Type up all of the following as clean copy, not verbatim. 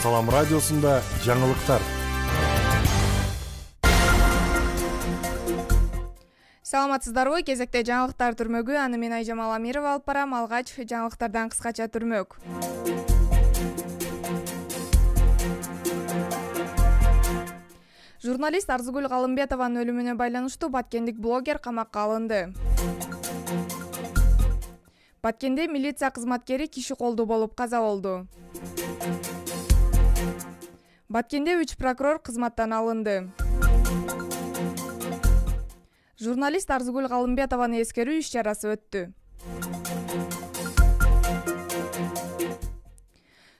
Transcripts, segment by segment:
Салам радиосунда жаңылыктар. Саламатсыздарбы? Кезекте жаңылыктар түрмөгү. Аны мен Айжамал Амирова алып барам. Алгач жаңылыктардан кыскача түрмөк. Журналист Арзыгүл Галымбетованын өлүмүнө байланыштуу баткендик блогер камакка алынды. Баткенде милиция кызматкери киши колдуу болуп каза болду. Баткенде 3 прокурор кызматтан алынды. Журналист Арзыгүл Галымбетованы эскерүү иш-чарасы өттү.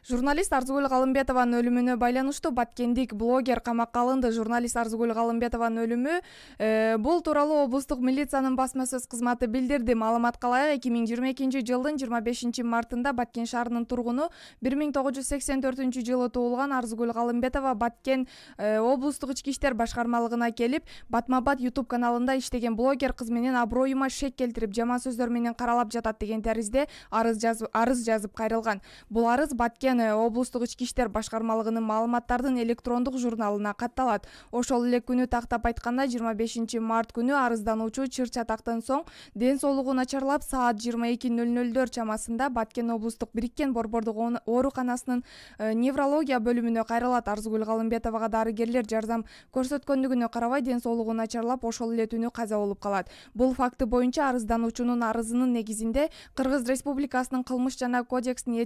Журналист Арзыгүл Галымбетованын өлүмүнө байланыштуу баткендик блогер камакка алынды. Журналист Арзыгүл Галымбетованын өлүмү бул тууралуу облустук милициянын басма сөз кызматы билдирди. Маалыматка ылайык 2022 жылдын 25 мартында Баткен шаарынын тургуну 1984 жылы туулган Арзыгүл Галымбетова Баткен облустук ички иштер башкармалыгына келип, батма-бат YouTube каналында иштеген блогер кыз менен аброюма шек келтирип, жаман сөздөр менен каралап жатат деген таризде арыз жазып кайрылган. Бул арыз Баткен облустук ички иштер башкармалыгынын маалыматтардын электрондук журналына катталат. Ошол эле күнү тактап айтканда 25 март күнү арыздануучу чыр-чатактан соң ден соолугу начарлап саат 22:00 чамасында Баткен облустук бириккен борбордук ооруканасынын неврология бөлүмүнө кайрылат. Арзыгүл Галымбетовага дарыгерлер жардам көрсөткөндүгүнө карабай ден соолугу начарлап ошол эле түнү каза болуп калат. Бул факты боюнча арыздануучунун арызынын негизинде Кыргыз Республикасынын кылмыш жана кодекстин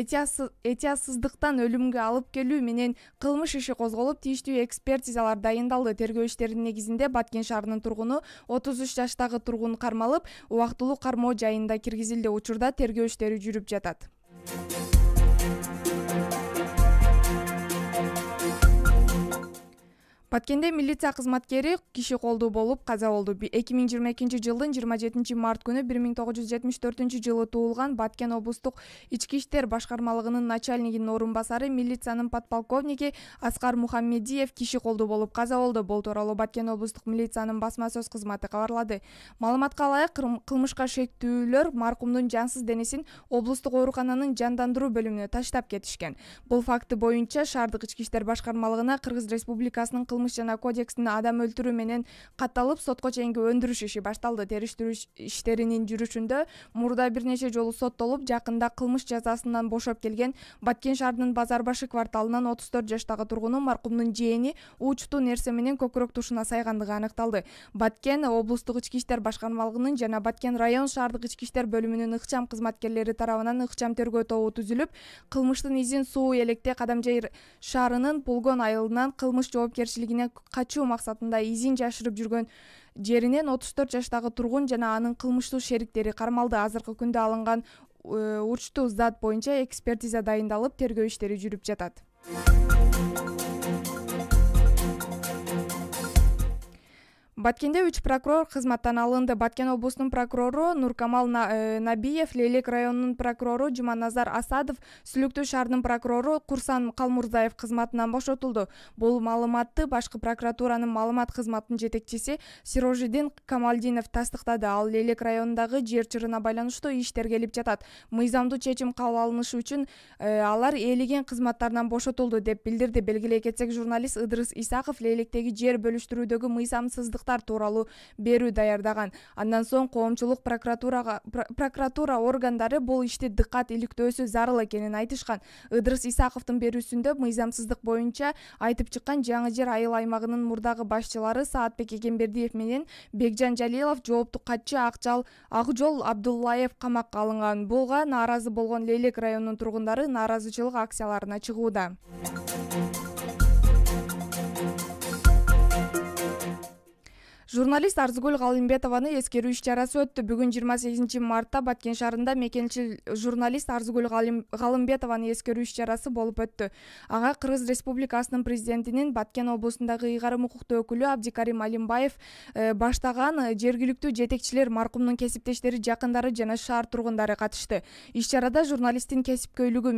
этиятсыздыктан өлүмгө алып келүү менен кылмыш иши козголуп, тийиштүү экспертизалар дайындалды. Тергөө иштеринин негизинде Баткен шаарынын тургуну 33 жаштагы тургун кармалып, убактылуу кармоо жайында киргизилди. Учурда тергөө иштери жүрүп жатат. Баткенде милиция кызматкери киши колдуу болуп каза болду. 2022 жылдын 27 март күнү 1974 жылы туулган Баткен облустук ички иштер башкармалыгынын начальнигинин орун басары милициянын подполковниги Аскар Мухаммедиев киши колдуу болуп каза болду. Бул тууралуу Баткен облустук милициянын басма сөз кызматы кабарлады. Маалыматка ылайык, кылмышка шектүүлөр маркумдун жансыз денесин облустук оорукананын жандандыруу бөлүмүнө таштап кетишкен. Бул факты боюнча шаардык ички иштер башкармалыгына Кыргыз Республикасынын кылмыш жана кодекстин адам өлтүрүү менен катталып, сотко чейинки өндүрүш иши башталды. Териштирүү иштеринин жүрүшүндө мурда бир нече жолу соттолуп, жакында кылмыш жазасынан бошоп келген Баткен шаарынын Базар башы кварталынан 34 жаштагы тургуну маркумдун жээни учтуу нерсе менен көкүрөк тушуна сайгандыгы аныкталды. Баткен облустук ички иштер башкармалыгынын жана Баткен район шаардык ички иштер бөлүмүнүн ыкчам кызматкерлери тарабынан ыкчам тергөө тобу түзүлүп, кылмыштын изин Суу Электе Кадамжай шаарынын Пулгон айылынан кылмыш жоопкерчилигине качуу максатында изин жашырып жүргөн жеринен 34 жаштагы тургун жана анын кылмыштуу шериктери кармалды. Азыркы күндө алынган учтуу зат боюнча экспертиза дайындалып, тергөө иштери жүрүп жатат. Баткенде 3 прокурор кызматтан алынды. Баткен облусунун прокурору Нуркамал Набиев, Лейлек районунун прокурору Жуманазар Асадов, Сүлүктүү шаарынын прокурору Курсан Калмурзаев кызматынан бошотулду. Бул маалыматты башкы прокуратуранын маалымат кызматынын жетекчиси Сирожидин Камалдинов тастыктады. Ал Лейлек районундагы жер чырына байланыштуу иш тергелип жатат. Мыйзамдуу чечим кабыл алынышы үчүн алар ээлеген кызматтарынан бошотулду деп билдирди. Белгилей кетсек, журналист Ыдырыс Исаков Лейлектеги жер бөлүштүрүүдөгү мыйзамсыздык тууралуу берүү даярдаган. Андан соң коомчулук прокуратура органдары бул ишти дыккат иликтөөсү зарыл экенин айтышкан. Ыдырыс Исаковдун берүүсүндө мыйзамсыздык боюнча айтып чыккан Жаңы Жер айыл аймагынын мурдагы башчылары Саатбек Эгембердиев менен Бекжан Жалилов, жооптук катчы Акжол Абдуллаев камакка алынган. Буга нааразы болгон Лейлек районунун тургундары нааразычылык акцияларына чыгууда. Журналист Арзыгүл Галымбетованы эскерүү иш-чарасы өттү. Бүгүн 28 мартта Баткен шаарында мекенчил журналист Арзыгүл Галымбетованы эскерүү иш-чарасы болуп өттү. Ага Кыргыз Республикасынын президентинин Баткен облусундагы ыйгарым укуктуу өкүлү Абдикарим Алимбаев баштаган жергиликтүү жетекчилер, маркумдун кесиптештери, жакындары жана шаар тургундары катышты. Иш-чарада журналисттин кесипкөйлүгү,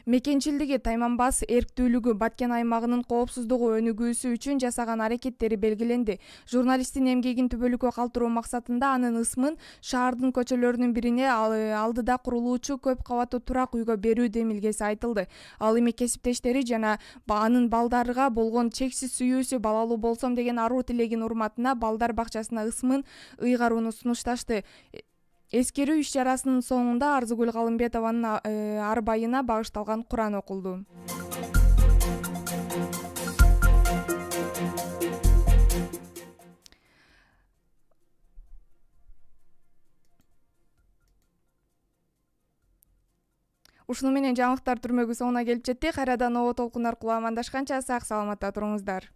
мекенчилдиги, тайманбас эрктүүлүгү, Баткен аймагынын коопсуздугу өнүгүүсү үчүн жасаган аракеттери белгиленди. Журналисттин эмгегин түбөлүккө калтыруу максатында анын ысмын шаардын көчөлөрүнүн бирине алдыда курулуучу көп кабаттуу турак үйгө берүү демилгеси айтылды. Ал эми кесиптештери жана анын балдарга болгон чексиз сүйүүсү, балалуу болсом деген аруу тилегин урматына балдар бакчасына ысмын ыйгарууну сунушташты. Эскерүү иш-чарасынын соңунда Арзыгүл Калымбетованын арбайына багышталган Куран окулду. Ушуну менен жаңылыктар түрмөгү соңуна келип жеттик. Кайрадан Обо толкун аркылуу амандашканча сак саламатта туруңуздар.